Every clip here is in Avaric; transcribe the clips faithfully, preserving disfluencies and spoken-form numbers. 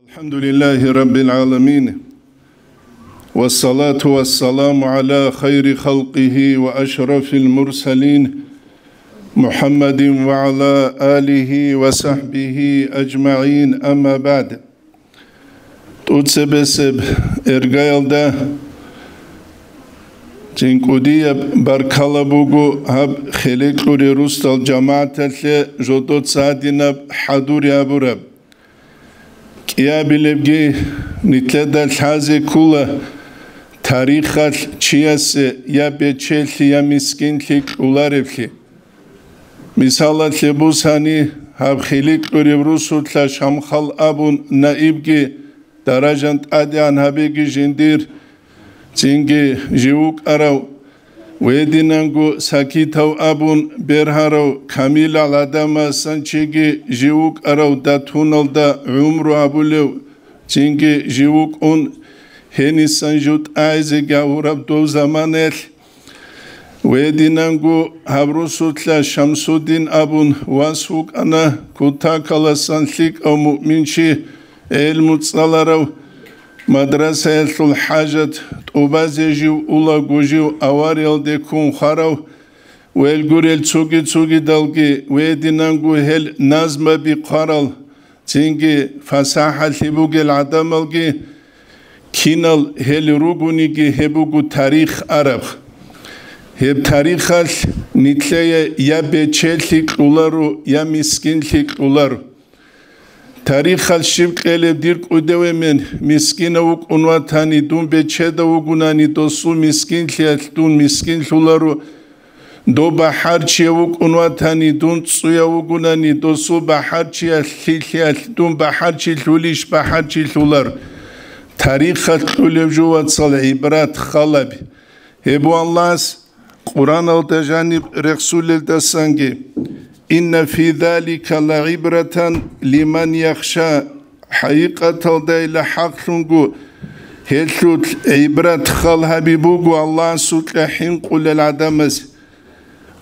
الحمد لله رب العالمين، والصلاة والسلام على خير خلقه وأشرف المرسلين، محمد وعلى آله وصحبه أجمعين، أما بعد. ТӀуцебесеб эргаялда цинкӀкӀудияб баркала буго гьаб хелекьуре русдал жамагӀаталъе жодоца гьадинаб хӀадури абураб. КӀиабилебги, нилъеда лъазе ккула тарихалъ чиясе я бечелъи, я мискинлъи кьолареблъи. Мисалалъе бусани, гьаб хиликьуреб русулъа Шамхал абун наибги даражан тӀадегӀан гьабеги жиндир, цинги жив вукӀарав, гьединанго Сакитов абун бергьарав камилал гӀадамасан чиги жив вукӀарав датуналда гӀумру гьабулев, цинги жив вукӀун гьенисан жив тӀагӀизе гьавураб дов заманаялъ, гьединанго гьаб русулъа Шамсудин абун вас вукӀана, кутакаласан лъикӀав муъминчи, гӀелму цӀаларав, мадрасаялъул хӀажат тӀубазе жив улаго жив авариялде ккун хварав, велгурел цуги-цугидалги, гьединанго гьел назмаби хъварал, цинги фасахӀалъи бугел гӀадамалги, кинал гьел ругониги, гьеб буго тарих араб. Гьеб тарихалъ нилъее я бечелъи кьоларо, я мискинлъи кьоларо. Тарихалъ щиб кьелеб, дир кӀудияв эмен мискинав вукӀун ватани, дун бечедав вугунани, досул мискинлъиялъ дун мискинлъуларо, дов бахӀарчияв вукӀун ватани, дун цӀуяв вугунани, досул бахӀарчиялъ, лъилъиялъ дун бахӀарчилъулищ бахӀарчилъулар. Тарихалъ кьолеб жо, вацал, гӀибрат халаби. Гьеб Аллагьас Къуръаналда жаниб рехсулелдасанги: «Инна фи залика лагӀибратан лиман яхша», хӀакъикъаталдайила хӀакълъунго гьелъулъ гӀибрат хал гьаби буго Аллагьасукьа хӀинкъулел гӀадамаз.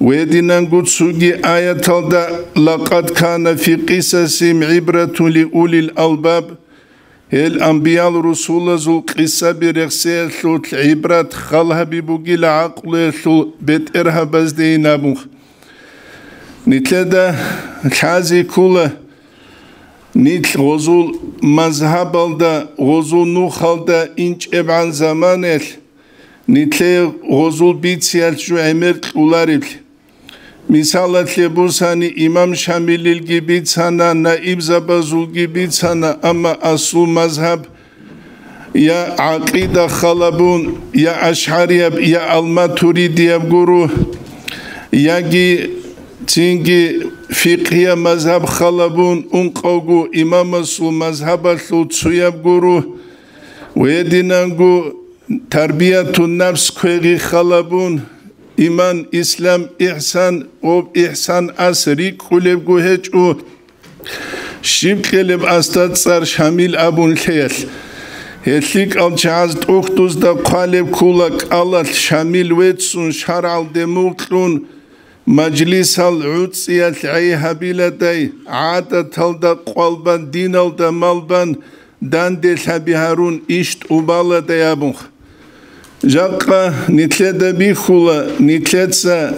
Гьединанго цоги аяталда: «Лакъад кана фи къисасихим гӀибратун ли улил албаб», гьел анбиял-русулазул къисаби рехсеялъулъ гӀибрат хал гьаби бугила гӀакълуялъул бетӀергьабаздейин абун. Нилъеда лъазе ккула, нилъ гъозул мазгьабалда, гъозул нухалда инчӀебгӀан заманаялъ нилъее гъозул бициялъ жо гӀемер кьолареблъи. Мисалалъе бусани, имам Шамилилги бицана, наибзабазулги бицана, амма асул мазгьаб я гӀакъида халабун, я ашгӀарияб, я алматуридияб гуро, яги цинги фикъгьияб мазгьаб халабун, ункъавго имамасул мазгьабалъул цояб гуро, гьединанго тарбиятун нафс квегъи халабун, иман, ислам, ихсан, об ихсан ас рикӀкӀулебго гьечӀо, щиб кьелеб асда цӀар Шамил абун лъеялъ. Гьел лъикӀал чагӀаз тӀухьдузда хъвалеб ккула кӀалалъ Шамил веццун, шаргӀалде мугълъун, мажлисал гӀуцӀиялъ гӀей гьабиладай, гӀадаталда къвалбан, диналда малбан, данделъаби гьарун иш тӀубаладай абунха. Жакъа нилъеда бихьула, нилъеца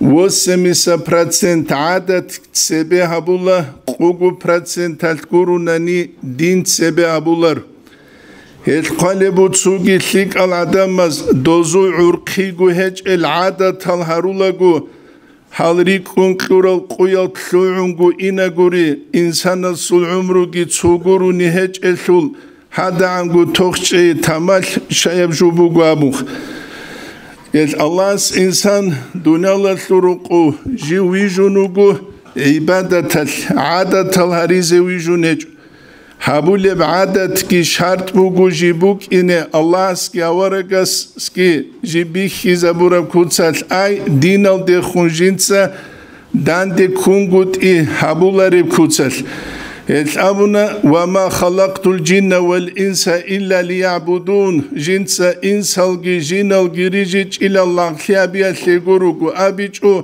восемьдесят процент гӀадат цебе гьабула, къого проценталъ гурунани дин цебе гьабулар. Гьел хъвалеб буцуги лъикӀал гӀадамаз дозул гӀурхъиго гьечӀел гӀадатал гьарулаго, гьал рикӀкӀун кьурал къуял лъугӀунго инагури, инсанасул гӀумруги цо гурони гьечӀелъул, гьадагӀанго тохчӀей тамалъ щаяб жо буго абухъ. Гьел Аллагьас инсан дуниялалъул рукъу жив вижун вуго, гӀибадаталъ, гӀадатал гьаризе вижун гьечӀо. Гьабулеб гӀадатги шартӀ буго жиб букӀине Аллагьасги аварагасги жиб бихьизабураб куцалъ, ай, диналдехун жинца данде ккунгутӀи гьабулареб куцалъ. Гьел абуна: «Ва ма халакътул жинна вал инса илля лиягӀбудун», жинца инсалги жиналги рижичӀила лагълъи абиялъе гуруго абичӀо,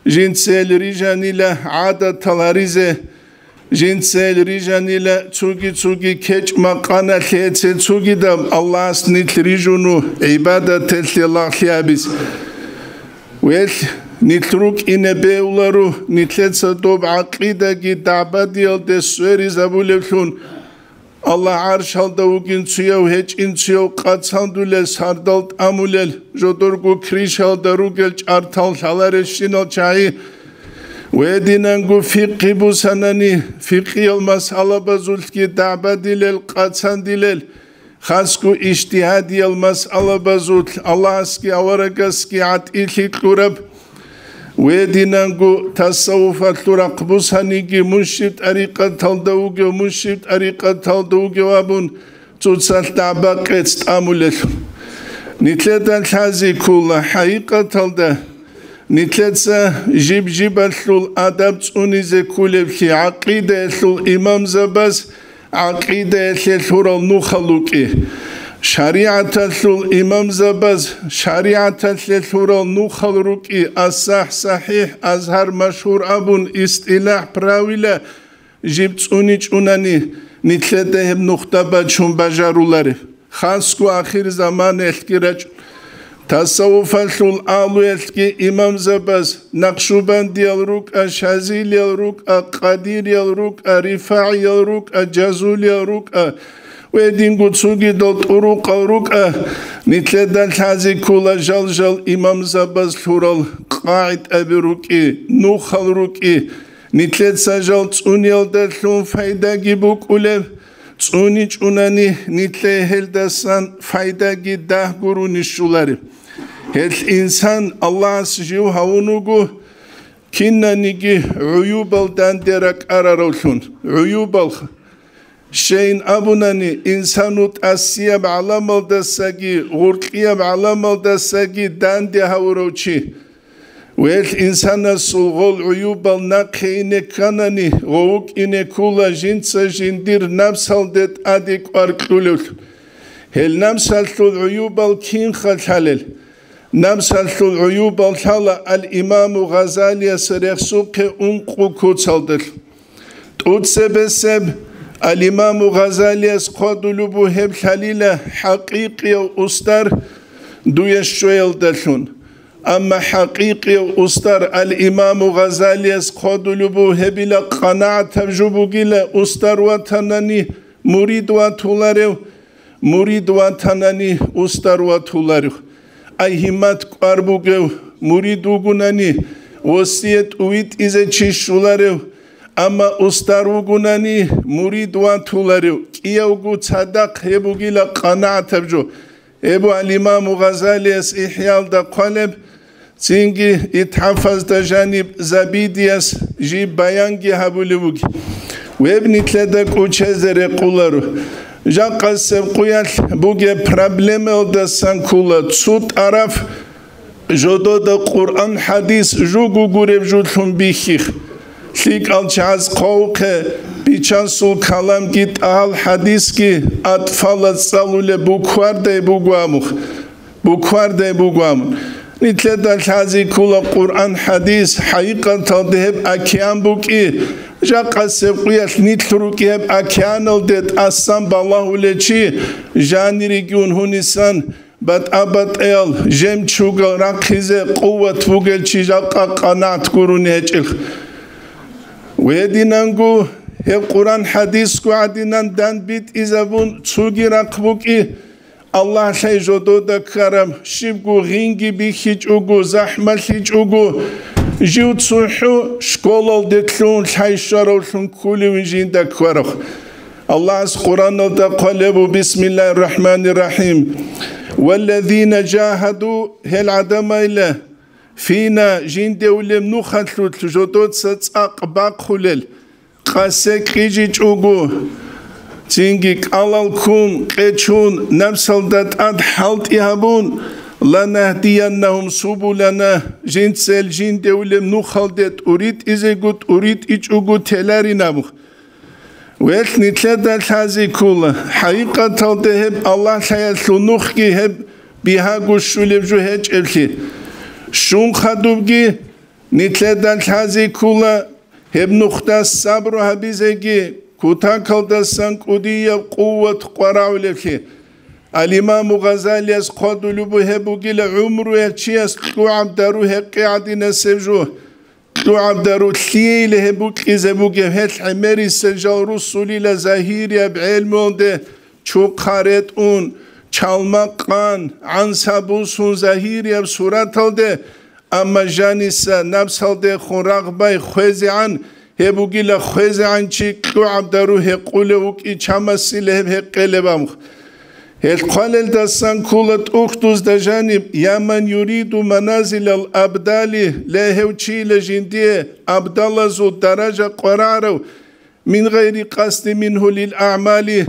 жинца гьел рижанила гӀадатал гьаризе. Жинцел рижанила цуги-цуги кечӀ-макъаналъе цецугидаб Аллагьас нилъ рижуну гӀибадаталъе лагълъи абиз. Велъ, нилъ рукӀине беуларо, нилъеца доб гӀакъидаги дагӀбадиялде сверизабулевлъун. Аллагь гӀаршалда вугинцуяв, гьечӀинцуяв, къацандулел, сардал тӀамулел, жодорго кришалда ругел чӀартал лъаларелщинал чагӀи. Гьединанго фикъгьи бусанани, фикъгьиял масъалабазулъги дагӀбадилел, къацандилел, хасго ижтигьадиял масъалабазулъ Аллагьасги аварагасги гӀатӀилъи кьураб. Гьединанго тасаввуфалъул рахъ бусаниги, мун щиб тӀарикъаталда вугев, мун щиб тӀарикъаталда вугев абун, цоцалъ дагӀба-къец тӀамулелъул. Нилъеда лъази ккола, хӀакъикъаталда, нилъеца жиб-жибалъул адаб цӀунизе кколеблъи, гӀакъидаялъул имамзабаз гӀакъидаялъе лъурал нухал рукӀи, шаригӀаталъул имамзабаз шаригӀаталъе лъурал нухал рукӀи, асахӀ-сахӀихӀ, азгьар машгьур абун, истилахӀ, правила жиб цӀуничӀунани, нилъеда гьеб нухда бачун бажарулареб. Хасго ахирзаманаялъги рачӀун, тасаввуфалъул агьлуялъги имамзабаз, накъшубандиял рукӀа, шазилиял рукӀа, къадириял рукӀа, рифагӀиял рукӀа, жазулиял рукӀа, гьединго цогидал тӀурукъал рукӀа, нилъеда лъази ккола жал-жал имамзабаз лъурал къагӀидаби рукӀи, нухал рукӀи, нилъеца жал цӀуниялдалъун пайдаги букӀулеб, цӀуничӀунани, нилъее гьелдасан пайдаги дагь гурони щолареб. Гьелъ инсан Аллагьас жив гьавун вуго, кинаниги гӀуюбал данде ракӀараравлъун, гӀуюбал. Щайин абунани, инсану тӀасияб гӀаламалдасаги гъуркьияб гӀаламалдасаги данде гьавурав чи. Велъ инсанасул гъол гӀуюбал нахъе ине кканани, гъов вукӀине ккула жинца жиндир напсалде тӀаде кӀвар кьулевлъун. Гьел напсалъул гӀуюбал кинха лъалел? Напсалъул гӀуюбал лъала ал-Имаму Гъазалияс рехсухъе ункъо куцалдалъун. ТӀуцебесеб, ал-Имаму Гъазалияс хъвадулеб бугеб лъалила хӀакъикъияв устар дуе щвеялдалъун. Амма хӀакъикъияв устар ал-Имаму Гъазалияс хъвадулеб бугебила къанагӀатаб жо бугила устар ватанани мурид ватуларев, мурид ватанани устар ватуларев. Ай гьиммат кӀвар бугев мурид вугунани, восият увитӀизе чи щуларев, амма устар вугунани, мурид ватуларев, кӀиявго цадахъ гьеб бугила къанагӀатаб жо. Гьеб буго ал-Имаму Гъазалияс ИхӀялда хъвалеб, цинги ИтхӀафазда жаниб Забидияс жиб баянги гьабулеб буго. Гьеб нилъеда кӀочезе рекъоларо. Жакъасеб къуялъ бугеб проблемаялдасан ккола цо тӀараф жодода Къуръан-хӀадис жуго гуреб жолъун бихьихъ. ЛъикӀал чагӀаз хъвавухъе, бичасул каламги тӀагьал хӀадисги атӀфалаз цӀалулеб буквардай буго абухъ. Буквардай буго абун. Нилъеда лъази ккола Къуръан-хӀадис, хӀакъикъаталда гьеб океан букӀи, жакъасеб къуялъ нилъ рукӀи гьеб океаналде тӀасан балагьулев чи, жанирегиун гьунисан, батӀа-батӀаял жемчугал рахъизе къуват бугел чи жакъа къанагӀат гурони гьечӀелъ. Гьединанго гьеб Къуръан-хӀадисго гӀадинан данбитӀизабун цоги рахъ букӀи, Аллагь лъай жодода ккараб, щибго гъинги бихьичӀого, захӀмалъичӀого, жив цохӀо школалде лъугьун лъай щваравлъун кколевин жинда ккараб. Аллагьас Къуръаналда хъвалеб буго: «БисмиллагьиррахӀманиррахӀим. Валлазина жагьаду», гьел гӀадамайла, «фина», жинде улеб нухалъулъ жодоца цӀакъ бахъулел, къасе кьижичӀого, цинги кӀалал ккун, къечун, напсалда тӀад хӀалтӀи гьабун, «ланагьдияннагьум субулана», жинцел жинде улеб нухалде тӀуритӀизего тӀуритӀичӀого теларин абу. Велъ нилъеда лъази ккола, хӀакъикъаталда гьеб Аллагь лъаялъул нухги гьеб бигьаго щулеб жо гьечӀеблъи. Щун хадубги, нилъеда лъази ккола, Гьеб нухда сабру гьабизеги кутакалдасан кӀудияб къуват къварагӀулеблъи. Ал-Имаму Гъазалияс хъвадулеб буго гьеб бугила гӀумруялъ чияс кьугӀаб дару гьекъи гӀадинасеб жо. КьугӀаб дару лъиейила гьеб букӀизе бугеб, гьелъ гӀемерисел жал русулила загьирияб гӀелмуялде чухъа ретӀун, чалма къан, гӀанса бусун загьирияб сураталде, амма жаниса напсалдехун рагъбай хвезегӀан, гьеб бугила хвезегӀан чи кьугӀаб дару гьекъулев вукӀи чамасила гьеб гьекъелеб амх. Гьел хъвалелдасан ккола тӀухьдузда жаниб: «Я ман юриду маназилал абдали», ле, гьев чийила жиндие абдалазул даража къварарав, мин гъайри къасди мингьу лил аъмали,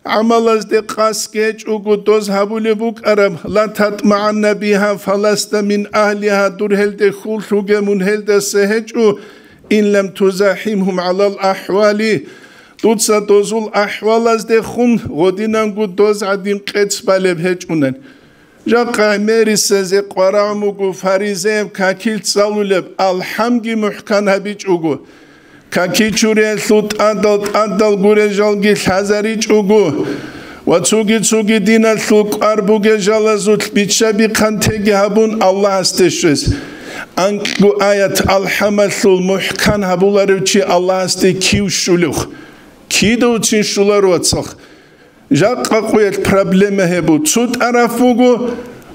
гӀамалазде къасги гьечӀого доз гьабулеб букӀараб, ла татмагӀанна биха фаласта мин агьлиха, дур гьелде хьул лъуге, мун гьелдаса гьечӀо, ин лам тузахимгьум гӀалал ахӀвали, дуца дозул ахӀвалаздехун гъодинанго доз гӀадин къец балеб гьечӀунан. Жакъа гӀемерисезе къварагӀ муго фаризеяб какил цӀалулеб, алхӀамги мухӀкан гьабичӀого, какичуриялъул тӀадал-тӀадал гурел жалги лъазаричӀого ва цуги-цуги диналъул кӀвар бугел жалазулъ биччаби-хъантеги гьабун Аллагьасде щвез. Анкьго аят алхӀамалъул мухӀкан гьабуларев чи Аллагьасде кив щулев? Кидавцин щулар, вацал. Жакъа къуялъ проблема гьеб буго. Цо тӀараф буго,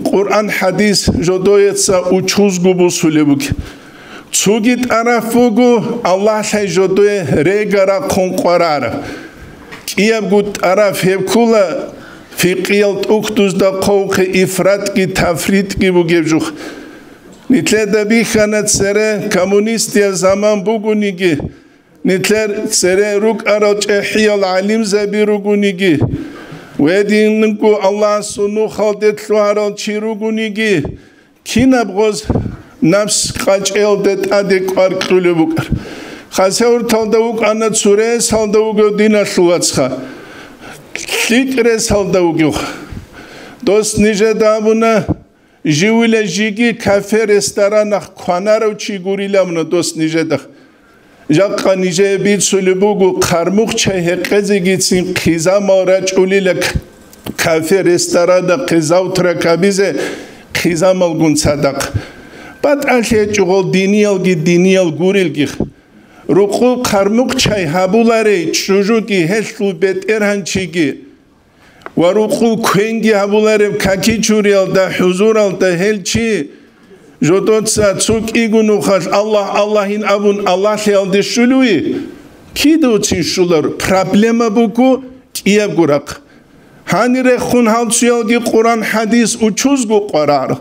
Къуръан хӀадис жодоеца учузго бусулеб буго. Цоги тӀараф буго, Аллагьлъай жодое рега рахъун къварараб. КӀиябго тӀараф гьеб ккола фикъиял тӀухьдузда хъвавухъе ифратги тафритги бугеб жух. Нилъеда бихьана цере коммунистиял заман бугониги, нилъер цере рукӀарал чӀехӀиял гӀалимзаби ругониги, ва гьединго Аллагьасул нухалде лъугьарал чи ругониги, кинаб гъоз напс къачӀелде тӀаде кӀвар кьулеб букӀар. Хасавюрталда вукӀана цо ресалда вугев диналъул вацха. ЛъикӀ ресалда вугев. Дос нижеда абуна, живила жиги кафе-ресторанах кванарав чи гурилавна дос нижеда. Жакъа нижее бицулеб буго, хъармухъ чай гьекъезегицин хъизамал рачӀулила к-, кафе-ресторанахъе завтрак гьабизе хъизамалгун цадахъ. БатӀалъи гьечӀо гъол диниялги диниял гурелги. Рукъул хъармухъ чай гьабуларей чӀужуги гьелъул бетӀергьанчиги. Ва рукъул квенги гьабулареб какичуриялда, хӀузуралда гьел чи жодоца цо кӀиго нухалъ «Аллагь, Аллагьин» абун Аллагьлъиялде щулуи? Кидавцин щулар, проблема буго кӀиябго рахъ. Гьанирехун гьалцуялги Къуран-хӀадис учузго къварар.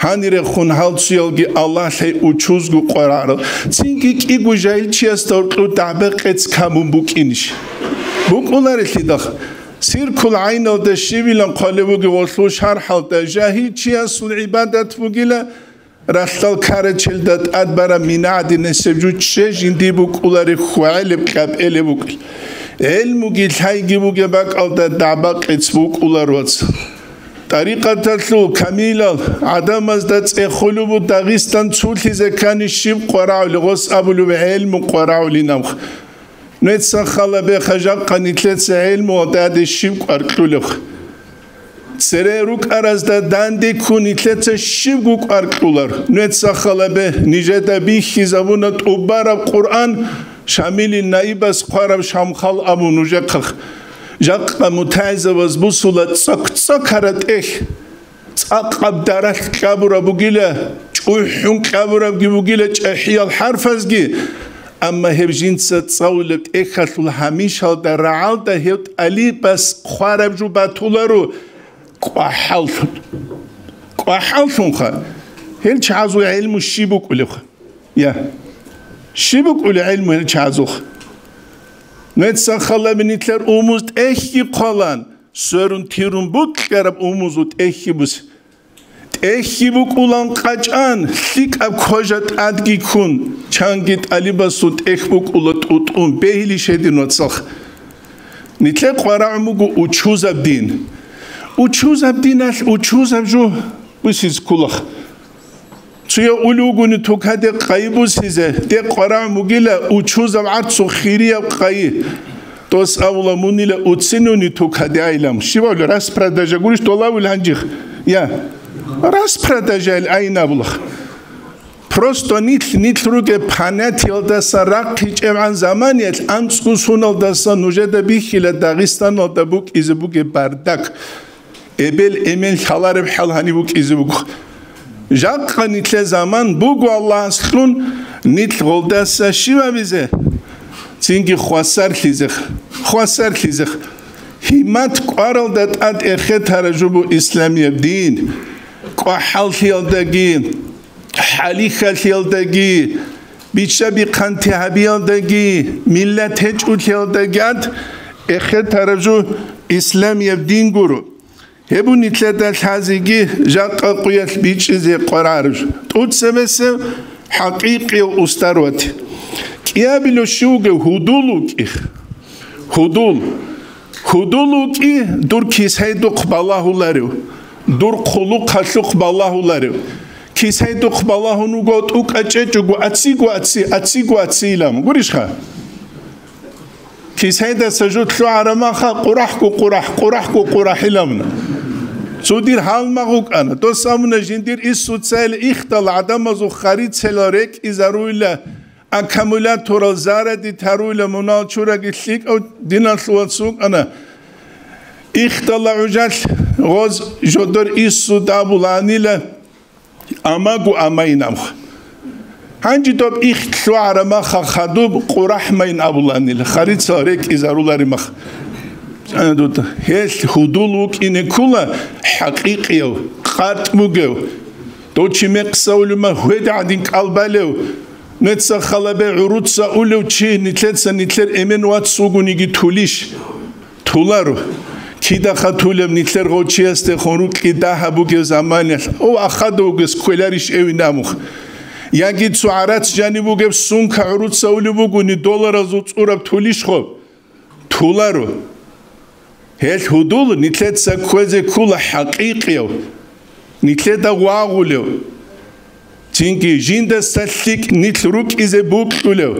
Гьанирехун гьалцуялги Аллагьлъай учузго къварар. Цинги кӀиго жагьилчиясда гьоркьоб дагӀба-къец камун букӀинищ? БукӀуларелъидал. Циркул гӀайналда щибилан хъвалеб бугеб гъолъул шархӀалда, жагьилчиясул гӀибадат бугила, ралъдал карачелда тӀад бараб мина гӀадинасеб жо чӀе жинди букӀулареб хьвагӀелеб кьапӀелеб букӀин. ГӀелмуги лъайги бугеб бакӀалда дагӀба-къец букӀулар, вац. ТӀарикъаталъул камилал гӀадамазда цӀехолеб бу Дагъистан цулъизе ккани щиб къварагӀули, гъос абулеб гӀелму къварагӀулинаб. Нуеца халабе, хажакъа нилъеца гӀелмуялда гьаде щиб кӀвар кьулеб? Цере рукӀаразда данде ккун нилъеца щибго кӀвар кьулар? Нуеца халабе, нижеда бихьизабуна тӀубараб Къуръан, Шамилил наибас хъвараб Шамхал абун нужехъах. Жакъа мутагӀилзабаз бусула цӀок-цӀокара тӀехь. ЦӀакъаб даралъ кьабураб бугила, чӀухӀун кьабурабги бугила чӀахӀиял хӀарфазги, амма гьеб жинца цӀалулеб тӀехьалъул гьамишалда рагӀалда гьев тӀалибас хъвараб жо батуларо кӀвахӀаллъун. КӀвахӀаллъунха, гьел чагӀазул гӀелму щиб букӀулебха? Я. Щиб букӀули гӀелму гьел чагӀазулха? Нуеца халаби нилъер умуз тӀехьги хъвалан, сверун-тирун букьараб умузул тӀехьги буси. ТӀехьги букӀулан къачӀан, лъикӀаб кожа тӀадги ккун, чанги тӀалибасул тӀехь букӀула тӀутӀун, бегьилищ гьедин, вацалха? Нилъер къварагӀун буго учузаб дин. Учузаб диналъ учузаб жо бусиз кколаха. Чия улев вугони тукаде къайи бусизе, те къварагӀ мугила учузаб гӀарцу хирияб къайи. Дос абула мунила уцинуни тукаде айилан. Щиб абула, распродажа гурищ долавил гьанжих? Я. Распродажа ил айин абулах. Просто нилъ, нилъ ругеб панатиялдаса рахъичӀебгӀан заманиялъ анцӀго суналдаса нужеда бихьила Дагъистаналда букӀизе бугеб бардак. Эбел-эмен лъалареб хӀал гьаниб букӀизе буго. Жакъа нилъе заман буго Аллагьас лъун, нилъ гъолдаса щиб абизе? Цинги хвасарлъизех, хвасарлъизех. Гьиммат кӀваралда тӀад эхетараб жо буго исламияб дин. КӀвахӀаллъиялдаги, хӀалихьалъиялдаги, бичча-бихъанти гьабиялдаги, миллат гьечӀолъиялдаги ад эхетараб жо исламияб дин гуро. Гьеб нилъеда лъазеги жакъа къуялъ бичӀчӀизе къварараб жо. ТӀоцебесеб хӀакъикъияв устар вати. КӀиабилев щив вугев? Гьудул вукӀи. Гьудул. Гьудул вукӀи дур кисайдухъ балагьуларев, дур хъулухъалъухъ балагьуларев. Кисайдухъ балагьун вуго, тӀукӀа чӀечӀого, ацци гу, ацци, ацци гу, ацци илан. Гурищха? Кисайдаса жо лъугӀараб маха, къурахӀго къурахӀ, къурахӀго къурахӀ илан. Цо дир гьалмагъ вукӀана. Дос абуна, жиндир иссуцайилан ихдал гӀадамазул харицайилан рекӀизаруйла, аккумуляторал заради таруйла, мунал чураги лъикӀав диналъул вац вукӀана. Ихдала гӀужалъ гъоз жодор иссу дабуланила, амагу амайин амха. Гьанже доб ихт лъугӀараб маха хадуб къурахӀмайин абуланила, харицал рекӀизарулари мах. Гьелъ гьудул вукӀине ккула хӀакъикъияв, къатӀ бугев. Дов чи мекъса улев ма гьведа гӀадин кӀалбалев, нуца халабе гӀуруца улев чи нилъеца нилъер эмен вац вугониги тулищ? Туларо. Кидаха тулеб нилъер гъов чиясдехун рукьи дагьаб бугеб заманалъ, ов ахада вугес кквеларищ эвин амух? Яги цо гӀарац жаниб бугеб сумка гӀуруца улеб бугони долларазул цӀураб тулищ хоб? Туларо. Гьелъ гьудул нилъеца кквезе ккула хӀакъикъияв, нилъеда вагъулев, цинги жиндаса лъикӀ нилъ рукӀизе бокьулев,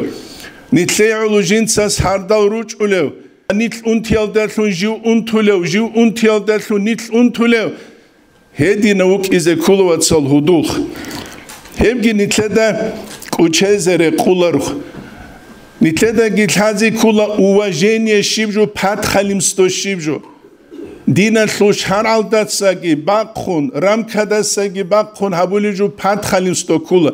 нилъее гӀоло жинцас гьардал ручӀулев, нилъ унтиялдалъун жив унтулев, жив унтиялдалъун нилъ унтулев, гьединав вукӀизе ккула, вацал, гьудулх. Гьебги нилъеда кӀучезе рекъуларухъ. Нилъедаги лъазе ккула уважение щиб жо, подхалимство щиб жо. Диналъул шаргӀалдасаги бахъун, рамкадасаги бахъун гьабулеб жо подхалимство ккула.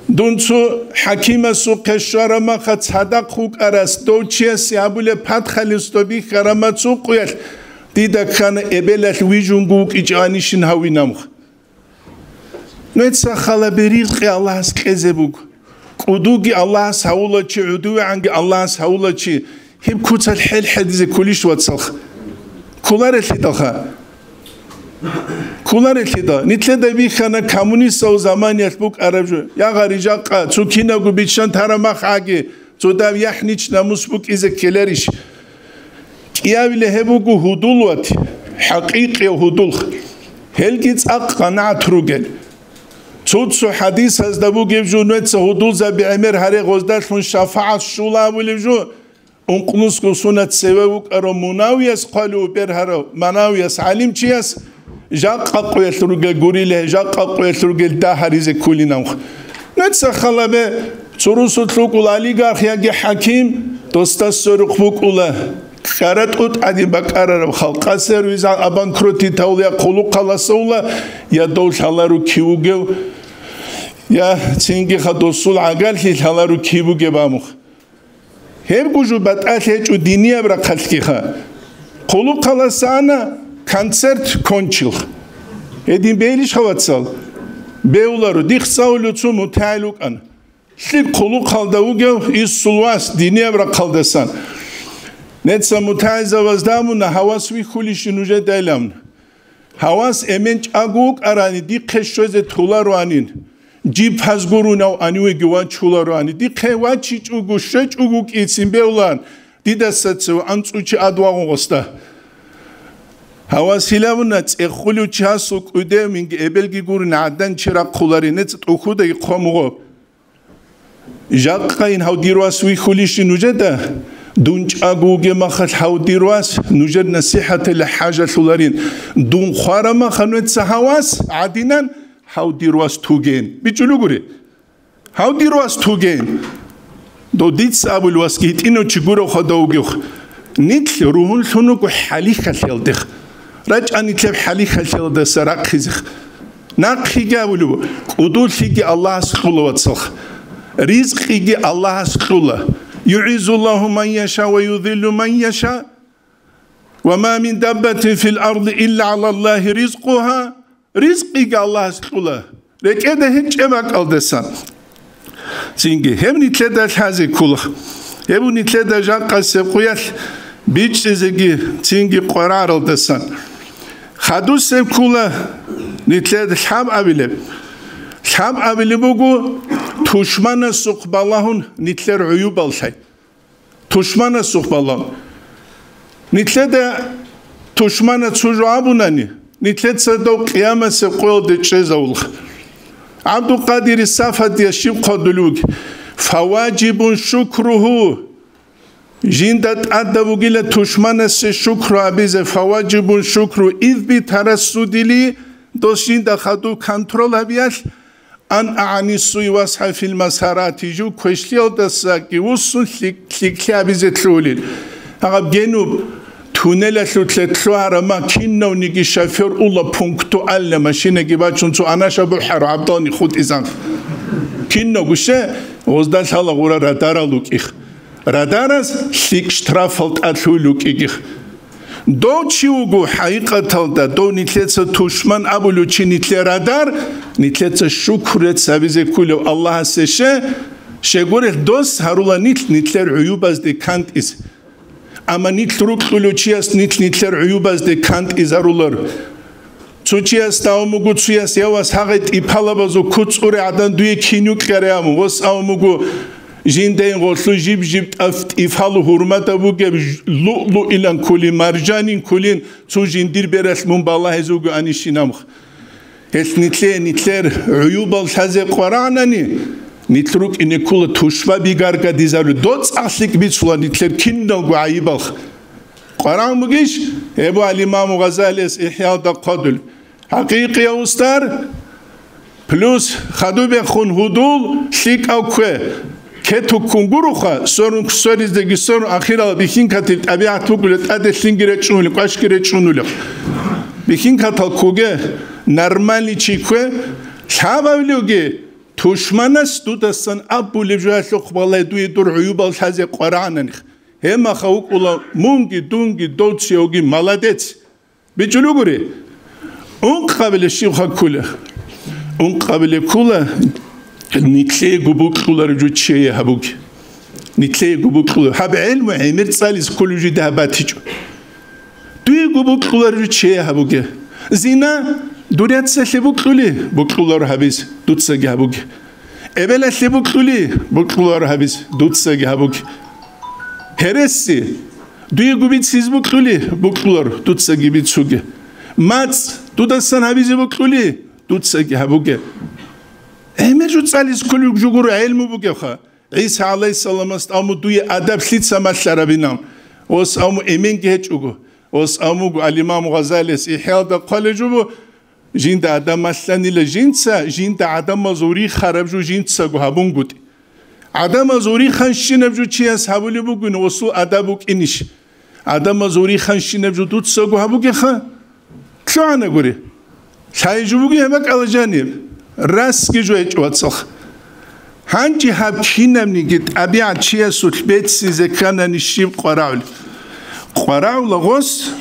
Дун цо хӀакимасухъе щвараб маха цадахъ вукӀарас, дов чиясе гьабулеб подхалимство бихьараб мацӀ къуялъ, дида ккана эбелалъ вижунго вукӀичӀанищин гьавинамха. Нуца халабе ризкъи Аллагьас кьезе буго. КӀудуги Аллагьас гьавула чи, гӀудувегӀанги Аллагьас гьавула чи, гьеб куцалъ хӀел хӀедизе ккулищ, вацалха? Кколарелъидалха. Кколарелъидал. Нилъеда бихьана коммунистал заманиялъ букӀараб жо. Я гъари жакъа, цо кинабго биччан тараб мах гӀаги, цо дав яхӀнич намус букӀизе ккеларищ? КӀиявила гьеб буго гьудул вати, хӀакъикъияв гьудулх. Гьелги цӀакъ къанагӀат ругел. Цо-цо хӀадисазда бугеб жо, нуца гьудулзаби гӀемер гьаре, гъоздалъун шафагӀат щула абулеб жо, ункънусго сунат цеве вукӀарав Мунавияс хъвалев бергьарав, Манавияс гӀалимчияс, жакъа къуялъ ругел гурила, жакъа къуялъ ругел дагьаризе ккулинавх. Нуца халабе, цо русулъ вукӀула олигарх яги хӀаким, досда сверухъ букӀула ккара тӀутӀ гӀадин бакӀарараб халкъ, сервис обанкротить гьавула, я хъулухъаласавула, я дов лъалару кив вугев, я цинги ха досул гӀагарлъи лъалару кив бугеб амух. Гьебго жо батӀалъи гьечӀо динияб рахъалъгиха. Хъулухъаласа ана, концерт кончилха. Гьедин бейилищха, вацал? Беуларо, дихъ цӀалулев цо мутагӀил вукӀана. Лъикъ хъулухъалда вугев инсул вас динияб рахъалдасан. Нуца мутагӀилзабазда абуна, гьавас вихьулищин нужеда илан. Гьавас эмен чӀаго вукӀарани, дихъе щвезе толароанин, жиб гьаз гурунав гьанивеги вачулароани, дихъе вачичӀого, щвечӀого кӀицин бевлан, дидаса цев анцӀучи ад вагъун гъосда. Гьавасилавуна цӀехулев чиясул кӀудев минги эбелги гурин гӀадан чи рахъуларин, нецӀ тӀухьудаги хъомугъо. Жакъайин гьав дир вас вихьулищин нужеда? Дун чӀаго вугеб махалъ гьав дир вас нужер насихӀаталъе хӀажалъуларин. Дун хвараб махалъ нуца гьав вас гӀадинан, гьав дир вас тугейин. БичӀчӀулугури. Гьав дир вас тугейин. Дов дица абулев васги гьитӀинав чи гурев хадав вугев. Нилъ ругьунлъун вуго хӀалихьалъиялдех. РачӀа нилъер хӀалихьалъиялдаса рахъизе. Нахъеги абулев, кӀудулъиги Аллагьас кьула, вацалха. Ризкъиги Аллагьас кьула. ЮгӀиззуллагьу ман яша ва юзиллу ман яша. Ва ма мин даббатин фил арди илла гӀалаллагьи ризкъугьа. Ризкъиги Аллагьас кьула, рекӀеда гьечӀеб бакӀалдасан. Цинги гьеб нилъеда лъазе ккола. Гьеб нилъеда жакъасеб къуялъ бичӀчӀизеги цинги къварагӀаралдасан. Хадусеб ккола нилъеда лъабабилеб. Лъабабилеб буго тушманасухъ балагьун нилъер гӀуюбал лъай. Тушманасухъ балагьун. Нилъеда тушмана цо жо абунани, нилъеца дов къиямасеб къоялде чӀезавулха. ГӀабдулкъадири Сафадияс щиб хъвадулев вуги: «Фаваджибун шукругьу». Жинда тӀадаб бугила тушманасе шукру абизе, «фаваджибун шукру, иб би тарассудили», дос жинда хадуб контрол гьабиялъ, ан агӀанисуй васхӀа фил масарати, жив квешлъиялдасаги вуссун лъик-, лъикӀлъи абизе лъугьулел. Гьаб генуб туннелалъулъе лъугьарама кинавниги шофер ула пунктуальна машинаги бачун цо анаша бухӀару гӀабдални хутӀизан. Кинавгу ще, гъозда лъала гъура радарал рукӀих. Радарас лъикӀ штрафал тӀад лъугьул рукӀигих. Дов чи вуго, хӀакъикъаталда, дов нилъеца тушман абулев чи нилъер радар, нилъеца шукру рецц гьабизе кколев Аллагьасе ше, щегорелъ дос гьарула нилъ нилъер гӀуюбазде кантӀизе. Амма нилъ рукьулев чияс нилъ нилъер гӀуюбазде кантӀизарулар. Цо чияс давун буго, цояс явас гьагъай тӀипалабазул куцӀуре гӀадан дуе кин юкьаре абун, вас авун буго, жиндайин гъолъу жиб-жиб тӀаф-, тӀифалу гьурмада бугеб ж-, луълуилан кколин, маржанин кколин, цо жиндир бералъ мун балагьизе вугоанищинабха. Гьелъ нилъее нилъер гӀуюбал лъазе къварагӀанани, нилъ рукӀине ккола тушба бигаргадизару, доцӀахлъикӀ бицула нилъер киналго гӀайибалха. КъварагӀун бугищ? Гьеб алимаму Гъазалияс ИхӀялда хъвадул. ХӀакъикъияв устар плюс хадубехун гьудул лъикӀав кве. Кетуккун гуруха, сорун сориздаги сорун ахирал бихьинкатил тӀабигӀат бугула, тӀаде лъинги речӀунулеб, кӀвашги речӀунулеб. Бихьинкатал ккуге, нормальный чи ккве, лъабавлуги, тушманас дудасан абулеб жоялъухъ балай дуе дур гӀуюбал лъазе къварагӀананихъ. Гьемаха вукӀула мунги, дунги, довцияуги, молодец. БичӀчӀулугури. Ункъабиле щибха ккула? Ункъабиле ккула, нилъеего букьулареб жо чее гьабуге. Нилъеего букьулареб. Гьаб гӀелму гӀемер цӀализ кколеб жо дида гьаб батичӀо. Дуего букьулареб жо чее гьабуге. Зина, дур яцалъе букьули, букьуларо гьабиз, дуцаги гьабуге. Эбелалъе букьули, букьуларо гьабиз, дуцаги гьабуге. Гьереси, дуего бициз букьули, букьуларо, дуцаги бицуге. МацӀ, дудасан гьабизе букьули, дуцаги гьабуге. ГӀемер жо цӀализ кколеб жо гуро гӀелму бугебха. ГӀиса гӀалайгьиссаламас аму дуе адаб лъица малъарабинал? Ос аму эменги гьечӀого. Ос амуго алимам Гъазалияс ИхӀялда хъвалеб жо буго, жинда адам малъанила жинца, жинда гӀадамазул рихараб жо жинцаго гьабунгутӀи. ГӀадамазул риханщинаб жо чияс гьабулеб бугин, осул адаб букӀинищ? ГӀадамазул риханщинаб жо дуцаго гьабугеха? ЛъугӀанагури. Лъай жо бугеб гьеб бакӀала жаниб. Расги жо гьечӀо, вацалха. ГьанчӀи гьаб кинабниги тӀабигӀат чиясулъ беццизе кканани щиб къварагӀул? КъварагӀула гъос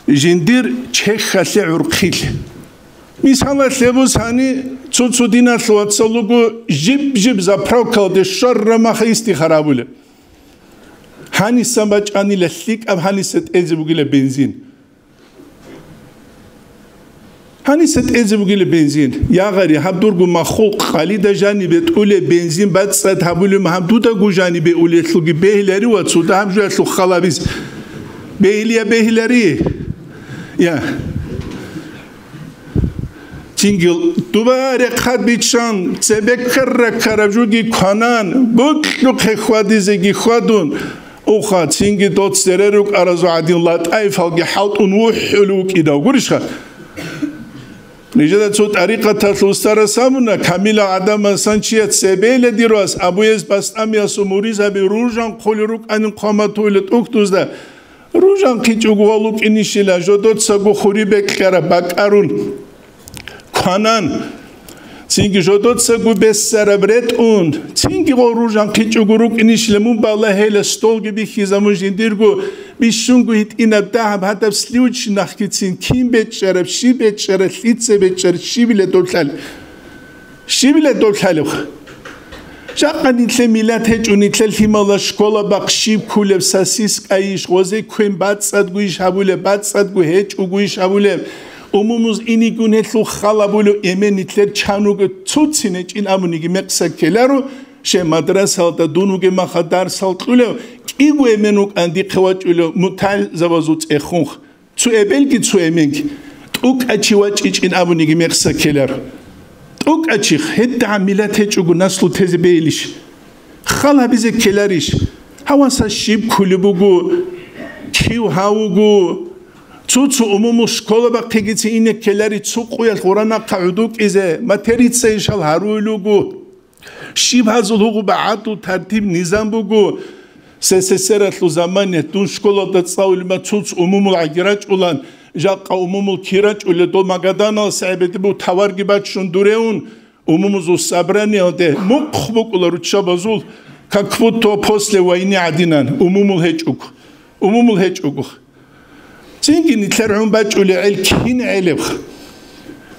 жиндир чехьалъе гӀурхъил. Мисалалъе бусани, цо-цо диналъул вацал руго жиб-жиб заправкалде щвараб махъа истихара гьабулеб. Гьанисан бачӀанила лъикӀаб гьаниса тӀезе бугила бензин. Гьаниса тӀезе бугила бензин. Ягъари, гьаб дурго маххул къалида жанибе тӀулеб бензин бацӀцӀад гьабулеб, гьаб дудаго жанибе улелъулги бегьилари ва цо дагьаб жоялъул халабиз бегьилия бегьилари. Я. Цинги дуба рехъад биччан, цебе ккара-ккараб жуги кванан, бокьухъе хьвадизеги хьвадун, уха, цинги дол цере рукӀаразул гӀадин латӀаифалги хӀалтӀун вухӀулев вукӀидав. Гурищха? Нижеда цо тӀарикъаталъул устарас абуна, камилал гӀадамасан чияс цебейила дир вас, Абу Язид БастӀамиясул муридзаби ружан хъулел рукӀанин хъван батула тӀухьдузда, ружан хъичӀого валукӀинищила, жодоцаго хури бекьараб бакӀарун кванан, цинги жодоцаго бессараб ретӀун, цинги гъо ружан хъичӀого рукӀинищила, мун балагьейила столги бихьизабун жиндирго бищунго гьитӀинаб дагьаб гьадаб сливочный нахъгицин кин бечӀчӀараб, щиб бечӀчӀараб, лъица бечӀчӀараб, щибила доб лъалеб? Щибила доб лъалебха? Жакъа нилъер миллат гьечӀо, нилъер лъимала школа бахъ щиб кколеб, сосискайищ, гъозе квен бацӀцӀадгойищ гьабулеб, бацӀцӀадго гьечӀогойищ гьабулеб, умумуз инигун гьелъул хал абулев эмен нилъер чан руго цуцин гьечӀин абуниги мекъса ккеларо, щай мадрасалда дун вугеб маха дарсал кьулев, кӀиго эмен вукӀан дихъе вачӀулев мутагӀилзабазул цӀехунха. Цо эбелги цо эменги, тӀокӀав чи вачӀичӀин абуниги мекъса ккелар. ТӀокӀав чихъ, гьедигӀан миллат гьечӀого наслу тезе бейилищ? Хал гьабизе ккеларищ? Гьаваса щиб кколеб буго, кив гьав вуго? Цо-цо умумул школа бахъегицин ине ккелари цо къуялъ гъура нахъа гӀодов кӀизе, материца ишал гьаруил руго. Щиб гьазул гьугъуба гӀадлу тартиб-низам буго? СССР-алъул замане дун школалда цӀалулеб ма цуц умумул гӀаги рачӀулан, жакъа умумул кир рачӀулел дол Магаданалъ гӀебедибу таварги баччун дуревун, умумузул собраниялде мухъ букӀула руччабазул, как будто после войны гӀадинан, умумул гьечӀого. Умумул гьечӀого. Цинги нилъер гӀун бачӀулел гӀел кин гӀелебха?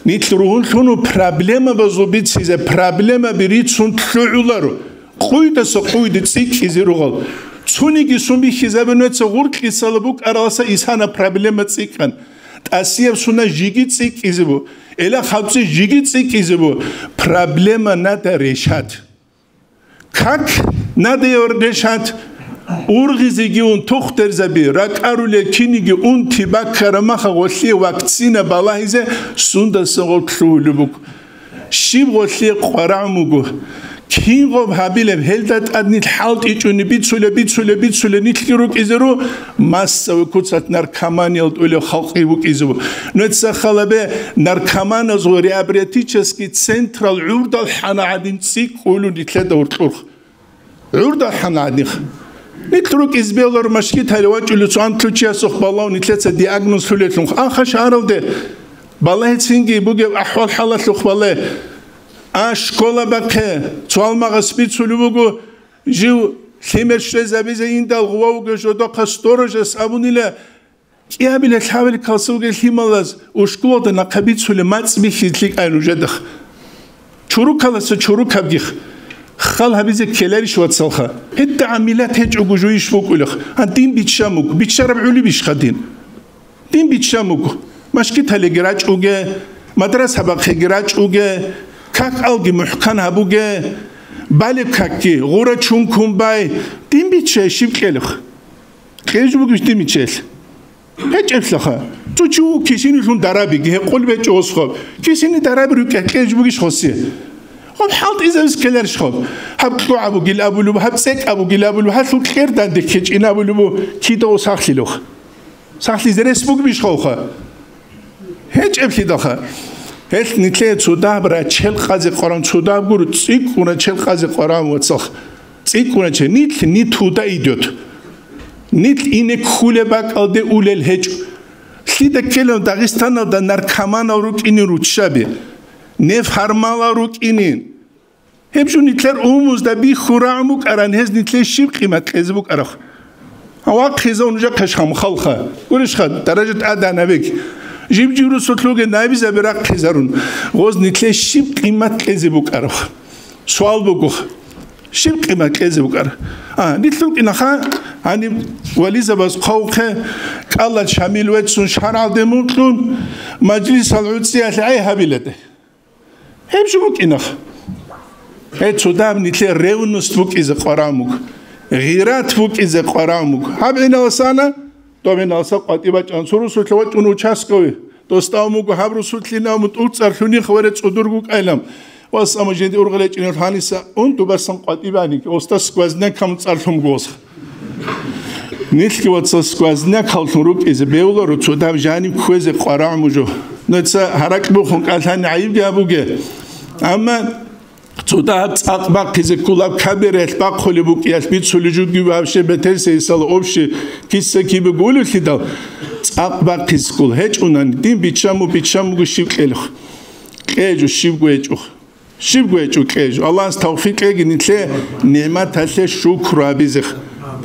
Нилъ ругьунлъун проблемабазул бицизе проблемаби рицун лъугӀуларо, къуйдаса къуйде цӀикӀкӀизе ругъал. Цониги сун бихьизабе нуца гъуркьисала букӀараласа исана проблема цӀикӀкӀан. ТӀасияб суна жиги цӀикӀкӀизе бу, эла хабцӀи жиги цӀикӀкӀизе бу. Проблема надо решать. Как надо решать? Ургъизеги ун тухтерзаби, ракӀарулел киниги унти баккараб маха гъолъие вакцина балагьизе сундасан гъоб лъугьулеб буго. Щиб гъолъие къварагӀун буго? Кин гъоб гьабилеб? Гьелда тӀад нилъ хӀалтӀичӀони бицулеб, бицулеб, бицулеб нилъги рукӀизе ру, массовый куцалъ наркоманиялда тӀолеб халкъги букӀизе бу. Нуца халабе, наркоманазул реабилитический централ гӀурдал хӀана гӀадин цӀикӀкӀулун нилъеда гьоркьорха. ГӀурдал хӀана гӀадинха. Нилъ рукӀиз белор машгитали вачӀулев цо антлъучиясухъ балав нилъеца диагноз лъулелъунха. Аха шагьаралде балагьецинги бугеб ахӀвал-хӀалалъухъ бале. А школа бахъе, цо гьалмагъас бицулев вуго, жив лъимер щвезабизе индал гъува вугев жодохъа сторожас абунила, кӀиабилеб лъабабилеб калсавги лъималаз ушкулалда нахъа бицулеб мацӀ бихьизе лъикӀай нужедахъ. Чурукаласа чурукабгих. Хал гьабизе ккеларищ, вацалха? ГьедигӀан миллат гьечӀого жуйищ букӀулех? А дин биччан буго. Биччараб гӀолебищха дин? Дин биччан буго. Машгиталиги рачӀуге, мадраса бахъеги рачӀуге, как-алги мухӀкан гьабуге, балеб какги гъура чункун бай. Дин биччай щиб кьелеб? Кьеж бугищ дин биччаялъ? ГьечӀеблъаха. Цо чи ву кисинилъун дарабиги, гьекъул бечӀо осхоб. Кисини дараби рукӀа кьеж бугищ хосе? Гъаб хӀалтӀизавис ккеларищ хоб? Гьаб кьогӀаб бугил абулеб, гьаб цӀекӀаб бугил абулеб, гьалъул кьер данде ккечӀин абулеб, кида о сахлъилух. Сахлъизе рес бугбищ ховха? ГьечӀеблъидалха. Гьелъ нилъее цо дагьаб рачел къазе къваран, цо дагьаб гуро цӀикӀкӀун рачел къазе къваран, вацалха. ЦӀикӀкӀун рачел. Нилъ, нилъ туда идет. Нилъ ине ккулеб бакӀалде улел гьечӀо. Лъида ккелев Дагъистаналда наркоманал рукӀинин руччаби, неф гьармалал рукӀинин. Гьеб жо нилъер умумузда бихьун рагӀун букӀаран, гьез нилъее щиб къимат кьезе букӀараб? Вахъизав нужехъе шамхалха. Гурищха, даражат аданабек. Жиб-жиб русулъуге набизаби рахъизарун, гъоз нилъее щиб къимат кьезе букӀараб? Суал буго, щиб къимат кьезе букӀар? А, нилъ рукӀинаха, гьаниб вализабаз хъавухъе, кӀалал Шамил веццун шаргӀалде мукьун, мажлисал гӀуцӀиялъ гӀей гьабиладе. Гьеб жо букӀинах. Гье, цо дагьаб нилъер ревность букӀизе къварагӀун буго, гъират букӀизе къварагӀун буго. Гьаб гӀиналсана, Дов гьенаса къватӀи бачӀан цо русулъа вачӀун участковый. Дос тӀамуго гьаб русулъин аму тӀуцӀар лъуних варе цӀудур гукӀайлам. Вас аму жинди ургъел гьечӀинал гьаниса ун дубасан къватӀи бани, оста сквозняк гьамун цӀарлъун гос. Нилъги ваца сквозняк гьаллъун рукӀизе бевларо, цо дав жаниб кквезе къварагӀ мужо. Нуца гьаракь бухун кӀалъани гӀайибги гьабуге. Амма цо дагьаб цӀакъ бахъизе ккулаб кабералъ бахъулеб букӀиялъ бицули жуги вообще бетер сейсала общий киса кибе гулевлъидал цӀакъ бахъизе ккул. ГьечӀунани, дин биччаму, биччамуго щиб кьелухъ. Кьежу, щибго гьечӀухъ. Щибго гьечӀо кьежу. Аллагьас тавфикъ кьеги нилъе нигӀматалъе шукру гьабизехъ.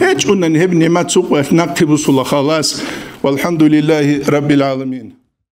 ГьечӀунани гьеб нигӀмат цукъвалъ нахъе бусула халас. Валхамдулиллагьи раббил гӀаламин.